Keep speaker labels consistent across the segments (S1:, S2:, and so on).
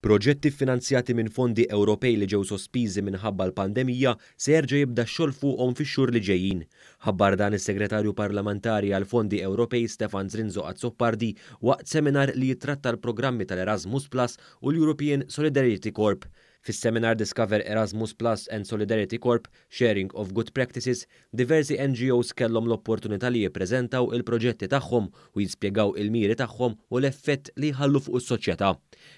S1: Proġetti ffinanzjati minn fondi Ewropej li ġew sospiżi minħabba l-pandemija se jerġa' jibda x-xogħol fuqhom fix-xhur li ġejjin. Ħabbar dan is-Segretarju Parlamentari għall-Fondi Ewropej Stefan Zrinzo Azzopardi waqt seminar li jittratta l-programmi tal-Erasmus Plus u l-European Solidarity Corps. Fis-seminar Discover Erasmus Plus and Solidarity Corps, Sharing of Good Practices, diversi NGOs kellhom l-opportunità li jippreżentaw il-proġetti tagħhom u jispjegaw il-miri tagħhom u l-effett li jħallu fuq is-soċjetà.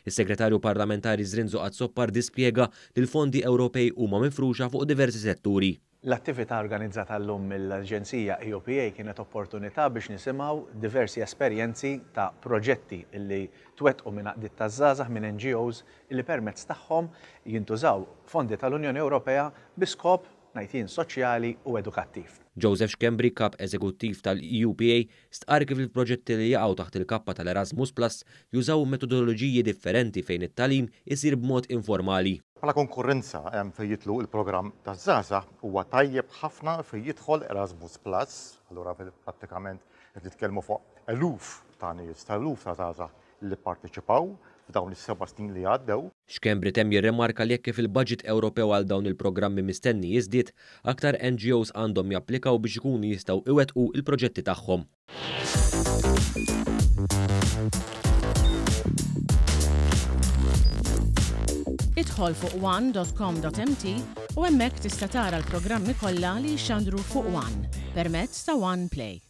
S1: Is-Segretarju Parlamentari Zrinzo Azzopardi spjega li l-fondi Ewropej huma mifruxa fuq diversi setturi.
S2: L-attività organizzata llum mill-Aġenzija EUPA kienet opportunità biex nisimgħu diversi esperjenzi ta' proġetti li twettqu minn għaqdiet taż-żgħażagħ, minn NGOs li permezz tagħhom jintużaw fondi tal-Unjoni Ewropea bi skop, ngħid jien, soċjali u edukattiv.
S1: Joseph Schembri, Kap Eżekuttiv tal-EUPA, stqarr kif il-proġetti li jaqgħu taħt il-kappa tal-Erasmus Plus jużaw metodoloġiji differenti fejn it-tagħlim isir b'mod informali.
S3: Bħala konkurrenza fejn jidħlu l-programm taż-żgħażagħ huwa tajjeb ħafna fejn jidħol Erasmus Plus, allura prattikament qed nitkellmu fuq eluf ta' nies, ta' eluf ta' żgħażagħ li pparteċipaw f'dawn is-seba' snin li għaddew.
S1: Schembri temm jirrimarka li hekk kif il-baġit Ewropew għal dawn il-programmi mistenni jiżdied, aktar NGOs għandhom japplikaw biex ikunu jistgħu iwettqu l-proġetti tagħhom.
S4: Idħol fuq one.com.mt u hemmhekk tista' tara l-programmi kollha li jixxandru fuq One permezz ta' One Play.